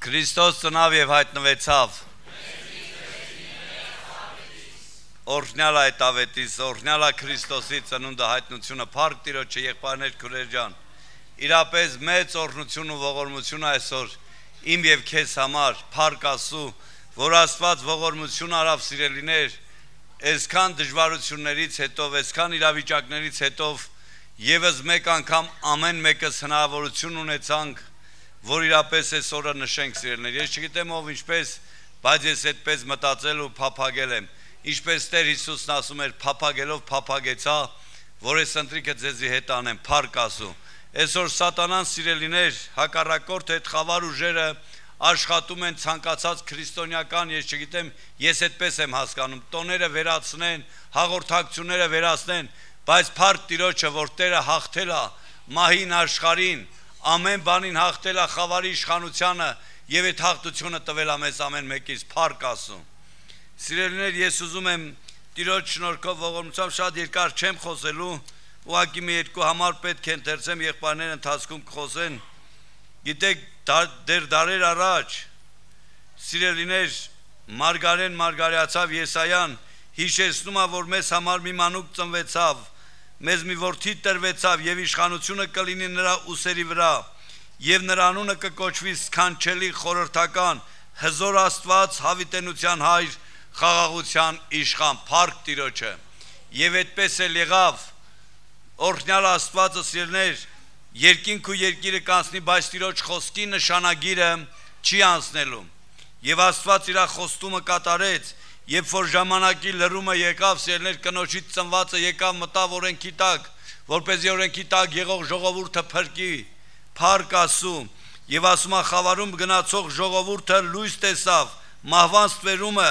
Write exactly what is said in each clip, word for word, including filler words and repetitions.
Քրիստոս ծնավ եւ հայտնվեցավ։ Օրհնյալ այդ ավետիս, օրհնյալ է Քրիստոսի ծնունդը, հայտնությունը, փառք Տիրոջը, եղբայրներ, քույրեր ջան։ Իրապես մեծ օրհնություն ու ողորմություն այսօր իմ եւ քեզ համար, փառք Աստծո, որ Աստված ողորմություն արավ սիրելիներ, այսքան դժվարություններից հետո, այսքան իրավիճակներից հետո եւս մեկ անգամ ամեն մեկս հնարավորություն ունեցանք, որ իրապես այս օրը նշենք սիրելիներ։ Ես չգիտեմ ով ինչպես, բայց ես այդպես մտածել ու փափագել եմ։ Ինչպես Տեր Հիսուսն ասում էր, փափագելով փափագեցա, որ այս ընտրիկը ձեզի հետ անեմ, փառք Աստծո։ Այսօր սատանան սիրելիներ, հակառակորդ այդ խավար ուժերը աշխատում են ցանկացած քրիստոնեական, ես չգիտեմ, ես այդպես եմ հասկանում, տոները վերացնեն, հաղորդակցությունները վերացնեն, բայց փառք Տիրոջը, որ Տերը հաղթել է մահին, աշխարհին, ամեն բանին հաղթել է խավարի իշխանությանը եւ այդ հաղթությունը տվել է մեզ ամեն մեկից, փառք Աստծո։ Սիրելիներ, ես ուզում եմ Տիրոջ շնորհքով ողորմությամբ շատ երկար չեմ խոսելու, ուղղակի մի երկու համար պետք է ընթերցեմ, եղբայրները ընթացքում կխոսեն։ Գիտեք, դեր դարեր առաջ սիրելիներ Մարգարեն Մարգարեացավ Եսայան հիշեցնում է, որ մեզ համար մի մանուկ ծնվեցավ, մեզ մի որդի տրվեցավ եւ իշխանությունը կլինի նրա ուսերի վրա եւ նրա անունը կկոչվի սքանչելի, խորհրդական, հզոր Աստված, հավիտենության հայր, խաղաղության իշխան, փառք Տիրոջը։ Եվ այդպես էլ եղավ, օրհնյալ Աստվածը սիրելիներ, երկինք ու երկիրը կանցնի, բայց Տիրոջ խոսքի նշանագիրը չի անցնելու։ Եվ Աստված իր խոստումը կատարեց, երբ որ ժամանակի լրումը եկավ, սիրելիներ, կնոջից ծնվածը եկավ, մտավ օրենքի տակ, որպեսզի օրենքի տակ եղող ժողովուրդը փրկի, փառք Աստծո։ Եվ ասում է, խավարում գնացող ժողովուրդը լույս տեսավ, մահվան ստվերումը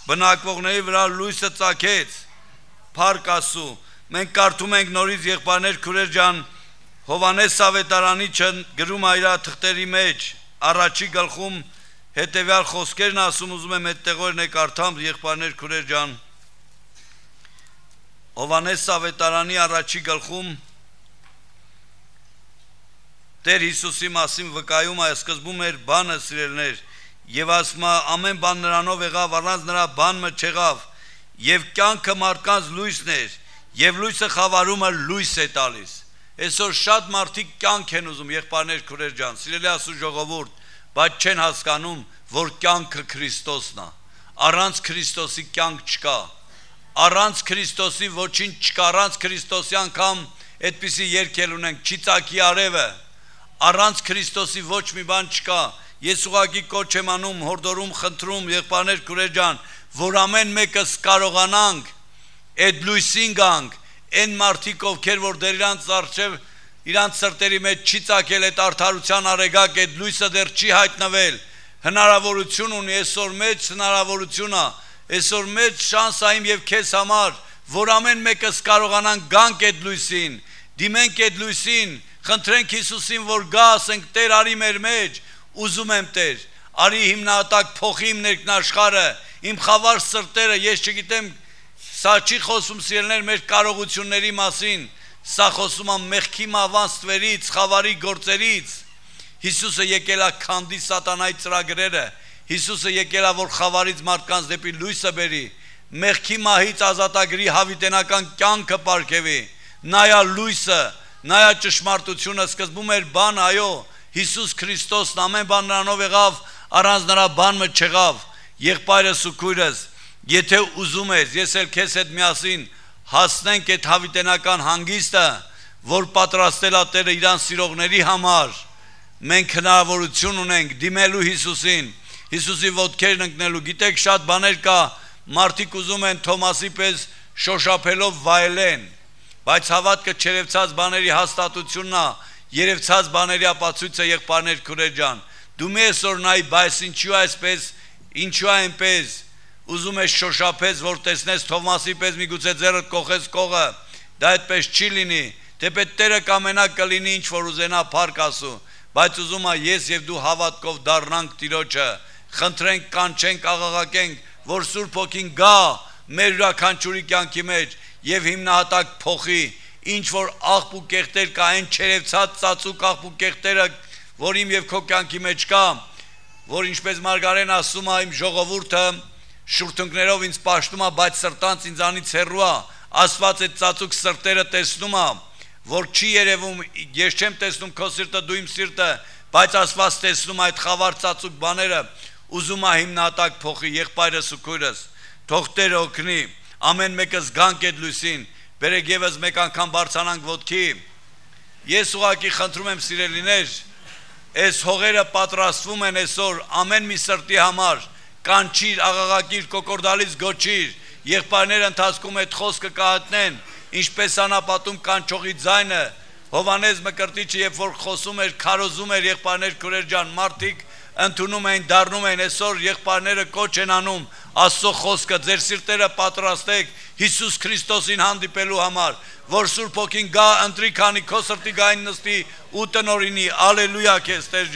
բնակվողների վրա լույսը ծագեց, փառք Աստծո։ Մենք կարդում ենք նորից, եղբայրներ, քույրեր ջան, Հովհաննես Ավետարանիչը գրում է իր թղթերի մեջ, առաջի գլխում հետևյալ խոսքերն ասում, ուզում եմ այդ տեղորն եք կարդամ, եղբայրներ, քույրեր ջան։ Հովհաննես Ավետարանի առաջի գլխում Տեր Հիսուսի մասին վկայում է, սկզբում էր բանը սիրելիներ, եւ ասում է, ամեն բան նրանով եղավ, առանց նրա բանը չեղավ, եւ կյանքը մարդկանց լույսն էր, եւ լույսը խավարումը լույս է տալիս։ Այսօր շատ մարդիկ կյանք են ուզում, եղբայրներ, քույրեր ջան, սիրելի Աստծո ժողովուրդ, բայց չեն հասկանում, որ կյանքը Քրիստոսն է։ Առանց Քրիստոսի կյանք չկա։ Առանց Քրիստոսի ոչինչ չկա, առանց Քրիստոսի անգամ այդպիսի երգել ունենք, չի ծակի արևը։ Առանց Քրիստոսի ոչ մի բան չկա։ Ես ուղղակի կոչ եմ անում, հորդորում, խնդրում, եղբայրներ, քույրեր ջան, որ ամեն մեկս կարողանանք այդ լույսին գանք, այն մարդիկ, ովքեր որ դեռ իրանց առջև իրանց սրտերի մեջ չի ծագել այդ արդարության արեգակ, այդ լույսը դեռ չի հայտնվել, հնարավորություն ունի, այսօր մեծ հնարավորություն է, այսօր մեծ շանս է իմ եւ քեզ համար, որ ամեն մեկս կարողանանք գանք այդ լույսին, դիմենք այդ լույսին, խնդրենք Հիսուսին, որ գա, ասենք Տեր արի մեր մեջ, ուզում եմ Տեր, արի հիմնահատակ փոխի իմ ներքնաշխարը, իմ խավար սրտերը, ես չգիտեմ, սա չի խոսում սիրելիներ մեր կարողությունների մասին, սա խոսում է մեղքի մահվան ստվերից, խավարի գործերից։ Հիսուսը եկել է քանդի սատանայի ծրագրերը, Հիսուսը եկել է որ խավարից մարդկանց դեպի լույսը բերի, մեղքի մահից ազատագրի հավիտենական կյանքը պարգևի, նայա լույսը, նայա ճշմարտությունը, սկզբում էր բան, այո, Հիսուս Քրիստոսն ամեն բան նրանով եղավ, առանց նրա բանը չեղավ։ Եղբայրս ու քույրս, եթե ուզում ես, ես էլ քեզ հետ միասին հասնենք այդ հավիտենական հանգիստը, որ պատրաստել է Տերը իրան սիրողների համար, մենք հնարավորություն ունենք դիմելու Հիսուսին, Հիսուսի ոտքերն ընկնելու։ Գիտեք, շատ բաներ կա, մարդիկ ուզում են Թոմասի պես շոշափելով վայելեն, բայց հավատքը չերևցած բաների հաստատությունն է, երևցած բաների ապացույցը, եղբայրներ, քույրեր ջան։ Դու մի այսօր նայ, բայց ինչու է այսպես, ինչու է այնպես, ուզում ես շոշափես, որ տեսնես Թովմասի պես միգուցե ձեռդ կողես կողը, դա այդպես չի լինի, թեպետ Տերը կամենա կլինի ինչ որ ուզենա, փառք Աստծո, բայց ուզում է ես եւ դու հավատքով դառնանք Տիրոջը, խնդրենք, կանչենք, աղաղակենք, որ Սուրբ Հոգին գա մեր յուրաքանչյուրի կյանքի մեջ եւ հիմնահատակ փոխի, ինչ որ աղբ ու կեղտեր կա, այն չերևցած ծածուկ աղբ ու կեղտերը, որ իմ եւ քո կյանքի մեջ կա, որ ինչպես Մարգարեն ասում է, իմ ժողովուրդը շուրթունքներով ինձ պաշտում է, բայց սրտանց ինձանից հեռու է, Աստված այդ ծածուկ սրտերը տեսնում է, որ չի երևում, ես չեմ տեսնում քո սիրտը, դու իմ սիրտը, բայց Աստված տեսնում այդ խավար ծածուկ բաները, ուզում է հիմնատակ փոխի եղբայրս ու քույրս, թող Տերը օգնի, ամեն մեկս գանք այդ լույսին, բերեք եւս մեկ անգամ բարձրանանք ոտքի, ես ուղղակի խնդրում եմ սիրելիներ, այս հողերը պատրաստվում են այսօր ամեն մի սրտի համար, կանչիր, աղաղակիր, կոկորդալից գոչիր, եղբայրները ընթացքում այդ խոսքը կհատնեն, ինչպես անապատում կանչողի ձայնը, Հովանես Մկրտիչը երբ որ խոսում էր, քարոզում էր եղբայրներ քուրեր ջան, մարդիկ ընդունում էին, դառնում էին, այսօր եղբայրները կոչ են անում Աստծո խոսքը, ձեր սիրտերը պատրաստեք Հիսուս Քրիստոսին հանդիպելու համար, որ Սուրբ Հոգին գա ընտրի, քանի քո սրտի գային նստի ու տնօրինի, ալելույա քեզ Տեր